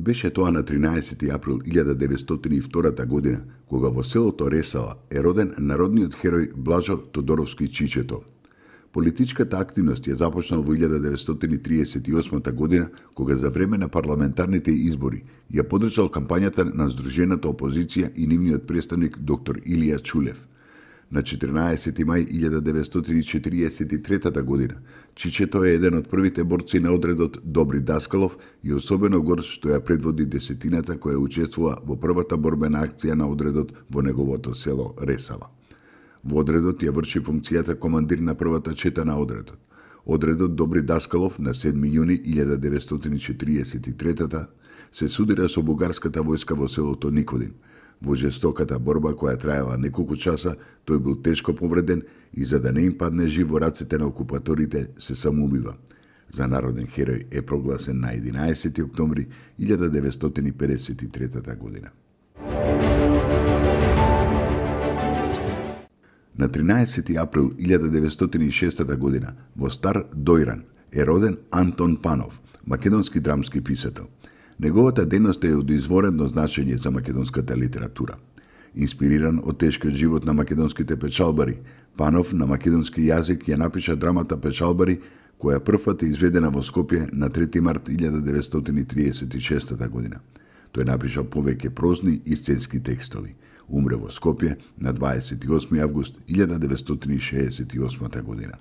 Беше тоа на 13. април 1902 година, кога во селото Ресава е роден народниот херој Блажо Тодоровски Чичето. Политичката активност ја започнал во 1938 година, кога за време на парламентарните избори ја поддржал кампањата на Сдружената опозиција и нивниот представник доктор Илија Чулев. На 14. мај 1943 година, Чичето е еден од првите борци на одредот Добри Даскалов и особено горд што ја предводи десетината која учествува во првата борбена акција на одредот во неговото село Ресава. Во одредот ја врши функцијата командир на првата чета на одредот. Одредот Добри Даскалов на 7 јуни 1943 се судира со бугарската војска во селото Никодин. Во жестоката борба која траела неколку часа, тој бил тешко повреден и за да не им падне жив во рацете на окупаторите, се самоубива. За народен херој е прогласен на 11. октомври 1953 година. На 13. април 1906 година во Стар Дојран е роден Антон Панов, македонски драмски писател. Неговата дејност е од изворено значење за македонската литература. Инспириран од тешкиот живот на македонските печалбари, Панов на македонски јазик ја напиша драмата Печалбари, која првпат е изведена во Скопје на 3 март 1936 година. Тој напиша повеќе прозни и сценски текстови. Умре во Скопје на 28 август 1968 година.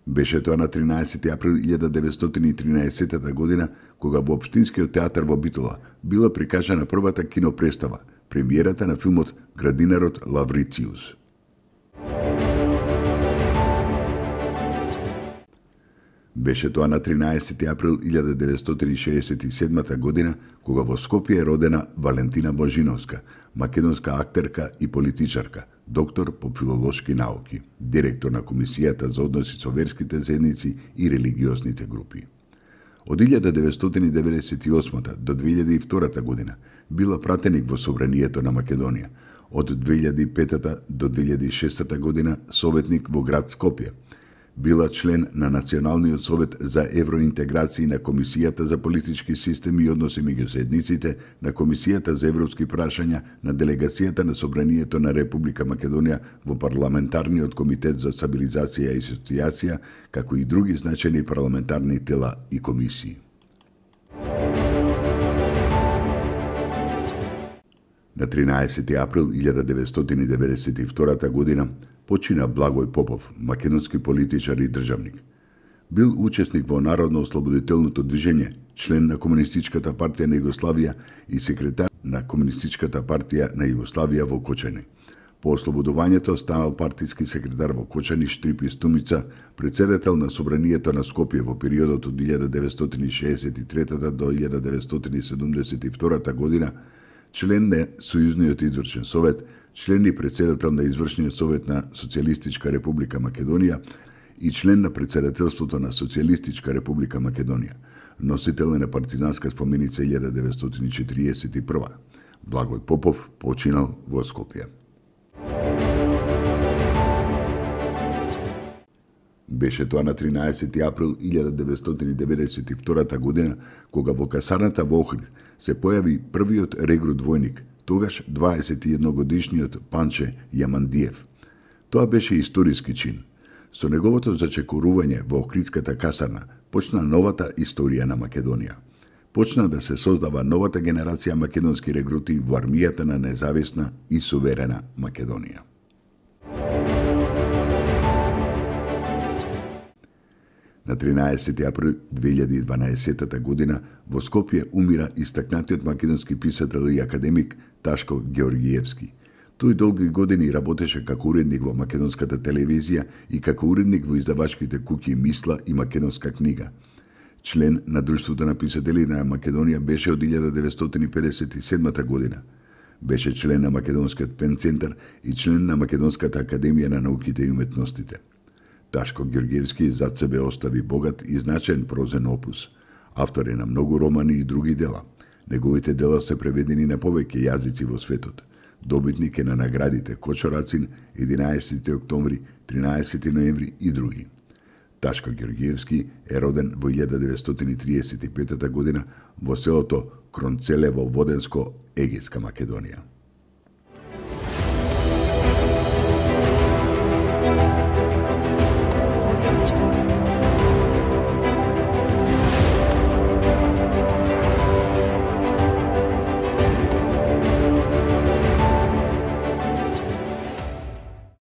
Беше тоа на 13. април 1913 година, кога во Општинскиот театар во Битола била прикажана првата кинопредстава, премиерата на филмот Градинарот Лаврициус. Беше тоа на 13. април 1967 година, кога во Скопје е родена Валентина Божиновска, македонска актерка и политичарка, доктор по филолошки науки, директор на Комисијата за односи со верските заедници и религиозните групи. Од 1998 до 2002 година била пратеник во Собранието на Македонија, од 2005 до 2006 година советник во град Скопје. Била член на Националниот совет за евроинтеграција на Комисијата за политички системи и односи меѓу заедниците, на Комисијата за европски прашања, на делегацијата на Собранието на Република Македонија во Парламентарниот комитет за стабилизација и асоциација, како и други значајни парламентарни тела и комисии. На 13. април 1992 година почина Благој Попов, македонски политичар и државник. Бил учесник во Народно-ослободителното движење, член на Комунистичката партија на Југославија и секретар на Комунистичката партија на Југославија во Кочани. По ослободувањето станал партиски секретар во Кочани, Штрипи и Стумица, председател на Собранието на Скопје во периодот од 1963 до 1972 година, член на Сојузниот извршен совет, член и председател на Извршниот совет на Социјалистичка република Македонија и член на председателството на Социјалистичка република Македонија. Носител е на партизанска споменица 1941. Благој Попов починал во Скопје. Беше тоа на 13. април 1992 година, кога во касарната во Охрид се појави првиот регрут војник, тогаш 21 годишниот Панче Јамандиев. Тоа беше историски чин. Со неговото зачекорување во Охридската касарна почна новата историја на Македонија. Почна да се создава новата генерација македонски регрути во армијата на независна и суверена Македонија. На 13. април 2012 година во Скопје умира истакнатиот македонски писател и академик Ташко Ѓеоргиевски. Тој долги години работеше како уредник во македонската телевизија и како уредник во издавачките куќи Мисла и Македонска книга. Член на Друштвото на писатели на Македонија беше од 1957 година. Беше член на Македонскиот пен центар и член на Македонската академија на науките и уметностите. Ташко Ѓеоргиевски зад себе остави богат и значаен прозен опус. Автор е на многу романи и други дела. Неговите дела се преведени на повеќе јазици во светот. Добитник е на наградите Кочо Рацин, 11. октомври, 13. ноември и други. Ташко Ѓорѓиевски е роден во 1935 година во селото Кронцелево, Воденско, Егејска Македонија.